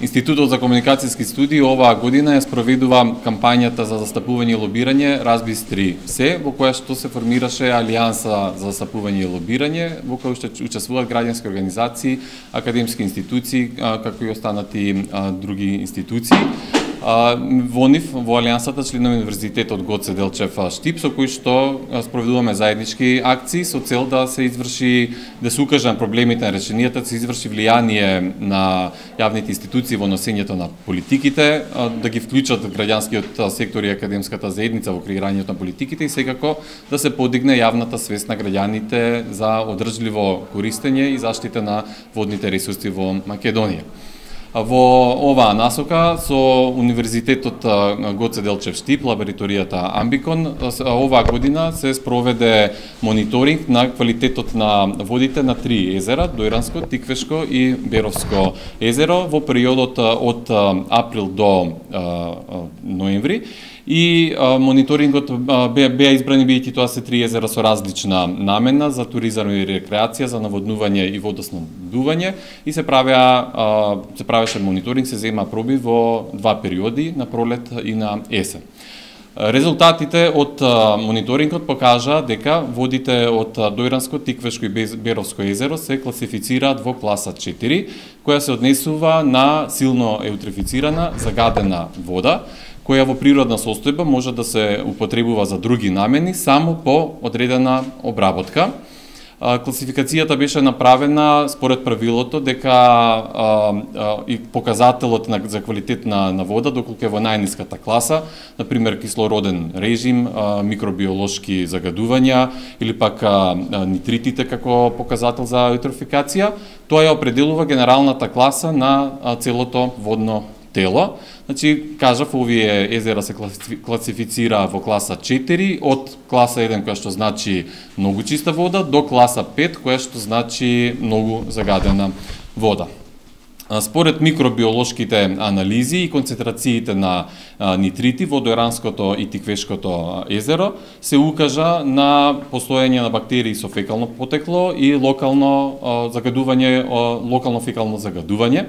Институтот за комуникацијски студии оваа година ја спроведува кампањата за застапување и лобирање Разбис 3C, во која што се формираше Алијанса за застапување и лобирање, во која што учествуваат граѓански организации, академски институции, како и останати други институции. Во нив, во Алијансата, членови Универзитетот Гоце Делчев Штип, со кои што спроведуваме заеднички акции со цел да се изврши, да се укаже на проблемите на решенијата, да се изврши влијание на јавните институции во носењето на политиките, да ги вклучат граѓанскиот сектор и академската заедница во креирањето на политиките и секако да се подигне јавната свест на граѓаните за одржливо користење и заштита на водните ресурси во Македонија. Во оваа насока со Универзитетот Гоце Делчев Штип, лабораторијата Амбикон, оваа година се спроведе мониторинг на квалитетот на водите на 3 езера, Дојранско, Тиквешко и Беровско езеро во периодот од април до ноември. И мониторингот беа избрани бидејќи тоа се 3 езера со различна намена за туризам и рекреација, за наводнување и водоснабдување и се правеше мониторинг, се зема проби во два периоди, на пролет и на есен. Резултатите од мониторингот покажа дека водите од Дојранско, Тиквешко и Беровско езеро се класифицираат во класа 4, која се однесува на силно еутрифицирана, загадена вода, која во природна состојба може да се употребува за други намени само по одредена обработка. Класификацијата беше направена според правилото дека и показателот за квалитет на вода доколку е во најниската класа, например кислороден режим, микробиолошки загадувања или пак нитритите како показател за еутрофикација, тоа ја определува генералната класа на целото водно тело. Значи, кажав, овие езера се класифицира во класа 4, од класа 1, која што значи многу чиста вода, до класа 5, која што значи многу загадена вода. Според микробиолошките анализи и концентрациите на нитрити во Дојранското и Тиквешкото езеро се укажа на постоење на бактерии со фекално потекло и локално фекално загадување.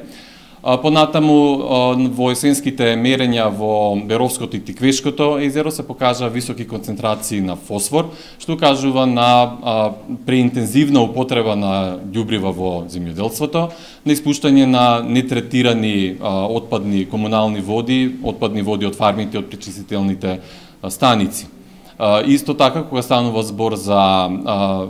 Понатаму во есенските мерења во Беровското и Тиквешкото езеро се покажа високи концентрации на фосфор, што кажува на преинтензивна употреба на ѓубрива во земјоделството, на испуштање на нетретирани отпадни комунални води, отпадни води од фармите, од пречистителните станици. Исто така, кога станува збор за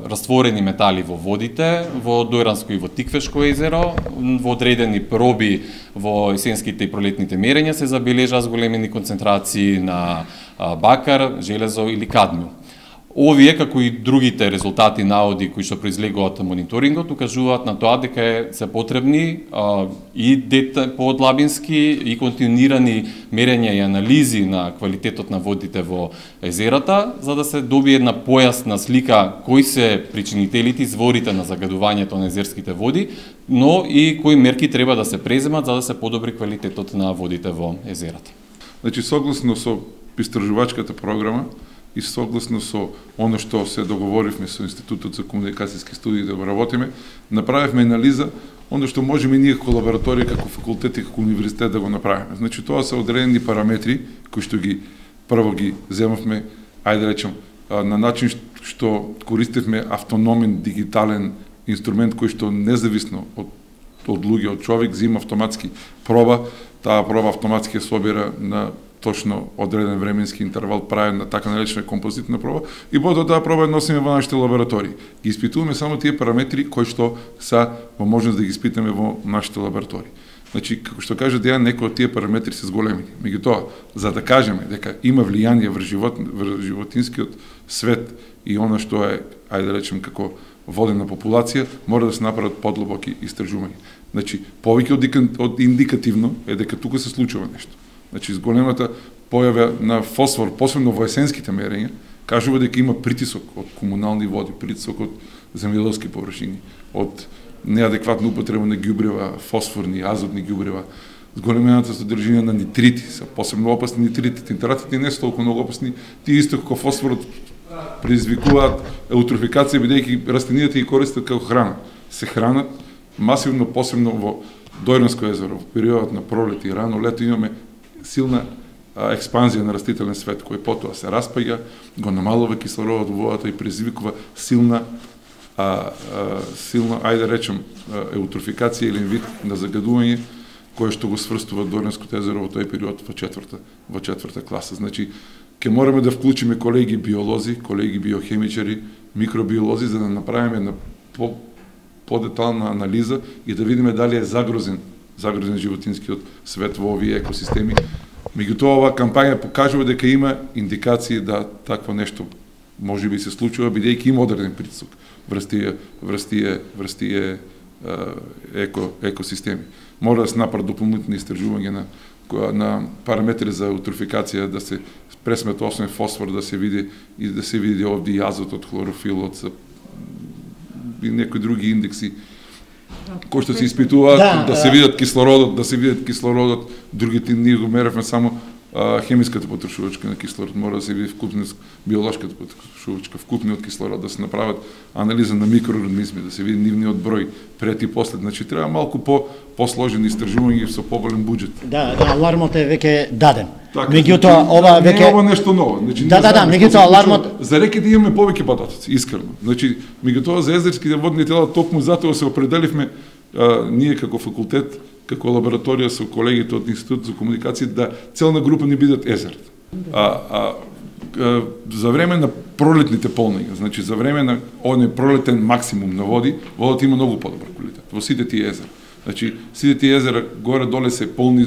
растворени метали во водите, во Дојранско и во Тиквешко езеро, во одредени проби во есенските и пролетните мерења се забележаа зголемени концентрации на бакар, железо или кадмиум. Овие, како и другите резултати наоди кои што произлегуваат мониторингот, укажуваат на тоа дека се потребни и подлабински и континуирани мерења и анализи на квалитетот на водите во езерата, за да се добие една појасна слика кои се причинителите, изворите на загадувањето на езерските води, но и кои мерки треба да се преземат за да се подобри квалитетот на водите во езерата. Значи, согласно со истражувачката програма, и согласно со оно што се договоривме со Институтот за комуникацијски студии да го работиме, направивме анализа оно што можеме ние како лабораторија, како факултет и како универзитет да го направиме. Значи, тоа се одредени параметри кои што прво ги земавме, ајде да речем, на начин што користевме автономен дигитален инструмент кој што независно од луѓе, од човек, зема автоматски проба, таа проба автоматски ја собира на точно одреден временски интервал, прави на така наречена композитна проба и потоа таа проба носиме во нашите лаборатории. Ги испитуваме само тие параметри кои што се во можност да ги испитаме во нашите лаборатории. Значи, како што кажа Дејан, некои од тие параметри се зголемени. Меѓутоа, за да кажеме дека има влијание врз животинскиот свет и она што е, ајде да речем, како водена популација, мора да се направат подлобоки истражувања. Значи, повеќе од индикативно е дека тука се случува нешто. Значи, зголемата појава на фосфор, посебно во есенските мерења, кажува дека има притисок од комунални води, притисок од земјоделски површини, од неадекватна употреба на ѓубрива, фосфорни, азотни ѓубрива, зголемената содржина на нитрити, се посебно опасни нитритите, нитратите не се толку многу опасни, тие исто како фосфорот предизвикуваат еутрофикација, бидејќи растенијата ги користат како храна. Се хранат масивно, посебно во Дојранско езеро, во периодот на пролет и рано лето имаме силна експанзија на растителен свет, кој потоа се распаѓа, го намалува кислородот во водата и предизвикува силна, ајде да речем, еутрофикација или вид на загадување, кое што го сврстува Дојранско езеро во тој период во четврта класа. Значи, ќе мораме да вклучиме колеги биолози, колеги биохемичари, микробиолози, за да направиме една подетална анализа и да видиме дали е загрозен животинскиот свет во овие екосистеми. Меѓутоа, оваа кампања покажува дека има индикации да такво нешто може би се случува, бидејќи има одреден притисок врз тие екосистеми. Мора да се направат дополнителни истражувања на параметри за еутрофикација, да се пресмет основен фосфор, да се види овде и азотот, хлорофилот и некои други индекси кои што се испитуваат, да се видат кислородот, другите ние го меревме само хемиската потрошувачка на кислород, мора да се види биолошката потрошувачка, вкупниот кислород, да се направат анализа на микроорганизми, да се види нивниот број пред и после. Значи треба малку посложени истражувања со поголем буџет. Да, алармот е веќе даден. Меѓутоа ова веќе не е ова нешто ново. Значи меѓутоа алармот за реки да имаме повеќе податоци, искрено. Значи меѓутоа за езерските водни тела токму затоа се определивме ние како факултет, како лабораторија со колегите од Институтот за комуникација, да целна група не бидат езер. За време на пролетните полнења, значи за време на оној пролетен максимум на води, водата има многу подобар квалитет во сите тие езера. Значи сите тие езера горе-доле се полни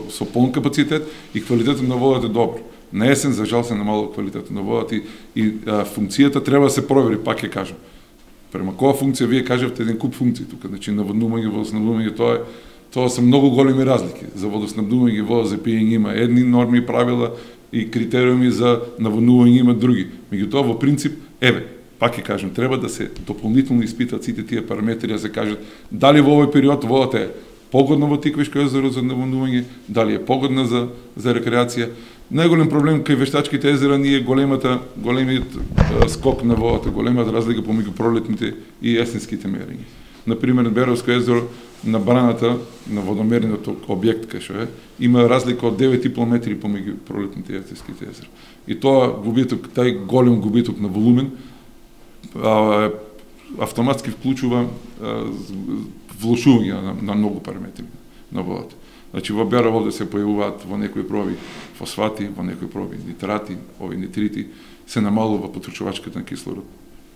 со полн капацитет и квалитетот на водата е добар. На есен за жал се намалува квалитетот на водата и функцијата треба да се провери, пак ќе кажам. Према која функција вие кажавте еден куп функции тука, значи наводнување, водоснабдување, тоа се многу големи разлики. За водоснабдување и вода за пиење има едни норми и правила и критериуми, за наводнување има други. Меѓутоа во принцип, пак ќе кажам, треба да се дополнително испитат сите тие параметри, да се кажат дали во овој период водата е погодна во Тиквишко езеро за наводнување, дали е погодна за рекреација. Најголем проблем кај вештачките езера ни е големиот скок на водата, големата разлика помеѓу пролетните и есенските мерења. Например, Беровско езеро, на браната на водомерниот објект кај што има разлика од 9,5 метри помеѓу пролетните и есенските езера. И тоа губиток, тај голем губиток на волумен автоматски вклучува влошување на многу параметри на водата. Значи во Берово овде се појавуваат во некои проби фосфати, во некои проби нитрати, ови нитрити, се намалува потрошувачката на кислород.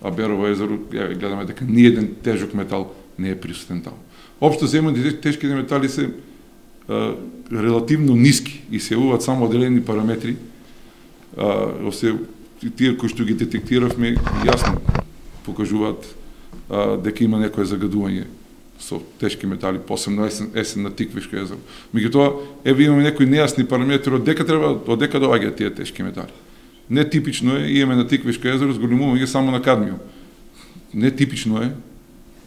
А Берово езеро, гледаме дека ниеден тежок метал не е присутен таму. Општо земјаните тешките метали се релативно ниски и се јавуваат само одредени параметри. Тие кои што ги детектиравме јасно покажуваат дека има некое загадување со тешки метали, посебно есен на Тиквишко езеро. Меѓутоа, имаме некои нејасни параметри од дека доаѓаат тие тешки метали. Нетипично е, имаме на Тиквишко езеро зголемување само на кадмиум. Нетипично е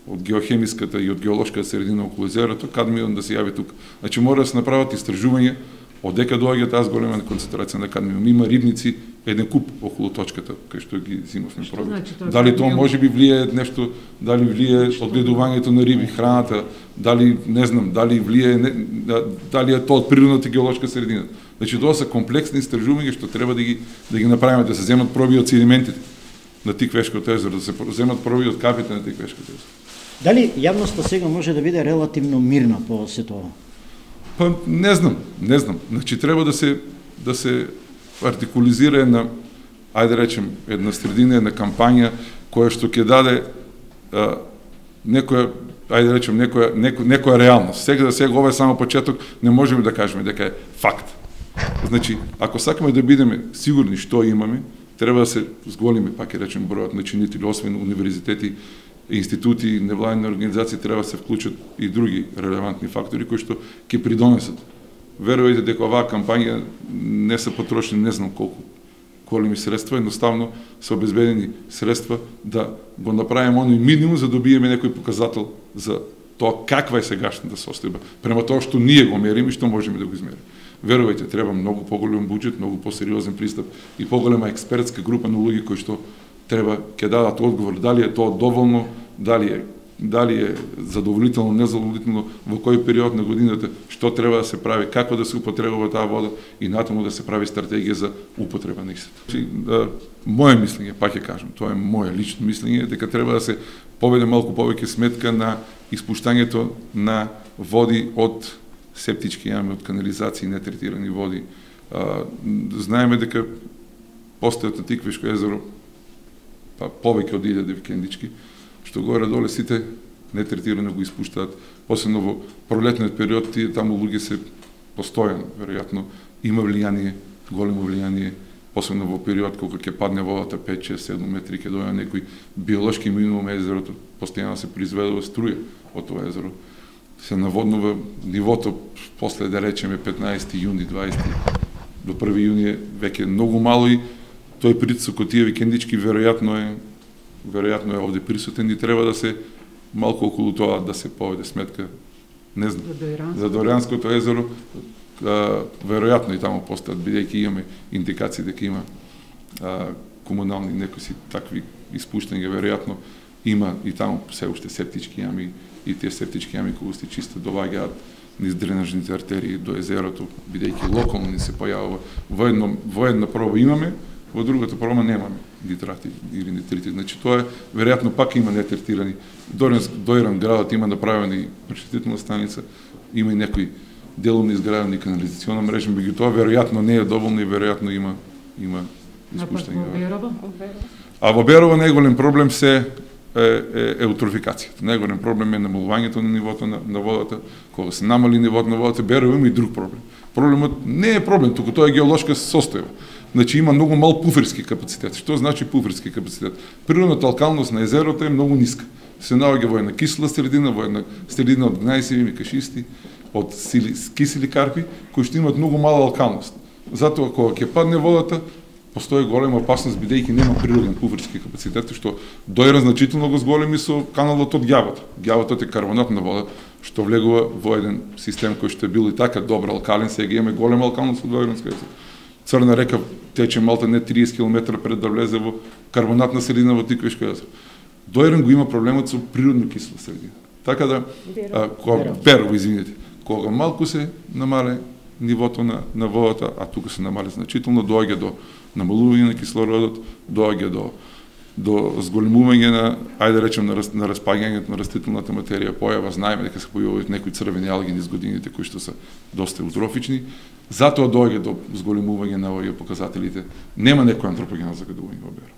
од геохемиската и од геолошката средина околу езерото кадмиум да се јави тука. Значи мора да се направат истражување од дека доаѓа таа зголемена концентрација на кадмиум. Има рибници, еден куп околу точката кај што ги зимавме проби. Дали тоа може би влие нешто, дали влие одгледувањето на риби, храната, дали не знам, дали влие, дали е тоа од природната геолошка средина. Значи тоа се комплексни истражувања што треба да ги направиме, да се земат проби од седиментите на Тиквешкото езеро, да се земат проби од капите на Тиквешкото езеро. Дали јавноста сега може да биде релативно мирна по сето ова? Па не знам. Значи треба да се артикулизира една, ајде речем, една средина, една кампања која што ќе даде некоја, ајде речем, некоја реалност. Сега ова е само почеток, не можеме да кажеме дека е факт. Значи, ако сакаме да бидеме сигурни што имаме, треба да се зголеми, пак ќе речем, бројот на чинители, освен универзитети, институти, невладини организации, треба да се вклучат и други релевантни фактори кои што ќе придонесат. Верувајте дека оваа кампања не се потрошени не знам колку големи средства, едноставно се обезбедени средства да го направиме оној минимум за да добиеме некој показател за тоа каква е сегашната состојба, према тоа што ние го мериме и што можеме да го измериме. Верувајте, треба многу поголем буџет, многу посериозен пристап и поголема експертска група на луѓе кои што треба ќе дадат одговор дали е тоа доволно, дали е дали е задоволително, незадоволително, во кој период на годината, што треба да се прави, како да се употребува таа вода и натаму да се прави стратегија за употреба на истата. Моje мислење, пак ќе кажам, тоа е моje лично мислење, дека треба да се поведе малку повеќе сметка на испуштањето на води од септички јами, од канализации, нетретирани води. Знаеме дека постојат на Тиквишко езеро повеќе од 1000 викендички, што горе-доле сите нетретирано го испуштаат, посебно во пролетниот период, тие таму луѓе се постојано, веројатно има влијание, големо влијание, посебно во период кога ќе падне водата 5, 6, 7 метри, ќе дојде некој биолошки минимум езерото, постојано се произведува струја од тоа езеро. Се наводнува нивото после, да речеме, 15 јуни, 20 до 1 јуни веќе многу мало и тој притисок од тие викендички веројатно е овде присутен и треба да се малку околу тоа да се поведе сметка, не знам, за Доријанското езеро, веројатно и таму постојат, бидејќи имаме индикации дека има комунални некои такви испуштања, веројатно има и таму се уште септички јами и тие септички јами кои се чисто доваѓаат низ дренажните артерии до езерото, бидејќи локално ни се појавува. Во една проба имаме, во другата проба немаме нитрати или нитрити. Значи тоа е веројатно пак има нетретирани. Доиран градот има направени пречистителна станица, има и некои делумно изградени канализациона мрежа, меѓутоа веројатно не е доволно и веројатно има испуштање. А во Берово најголем проблем се е еутрофикацијата. Најголем проблем е намалувањето на нивото на водата. Кога се намали нивото на водата, Берово има и друг проблем. Проблемот не е проблем, туку тоа е геолошка состојба. Значи има многу мал пуферски капацитет. Што значи пуферски капацитет? Природната алкалност на езерото е многу ниска. Се наоѓа во една кисела средина, во една средина од гнајсеви, кашисти, од кисели карпи, кои што имаат многу мала алкалност. Затоа кога ќе падне водата, постои голема опасност бидејќи нема природен пуферски капацитет, што доира значително го зголеми со каналот од ѓавото. Ѓавото е карбонатна вода, што влегува во еден систем кој што е бил и така добро алкален, сега имаме голема алкалност од Доиранска езеро. Црна река тече малта не 30 км пред да влезе во карбонатна средина во Тиквишко езеро. Доиран го има проблемот со природно кисела средина. Така да, Берово, извинете, кога малку се намале нивото на водата, а тука се намале значително, доаѓа до намалување на кислородот, доаѓа до зголемување на, ајде речем, на распаѓањето на растителната материја, појава, знаеме дека се појавуваат некои црвени алги низ годините кои што се доста еутрофични, затоа доаѓа до зголемување на овие показателите. Нема некој антропоген загадување во Берово.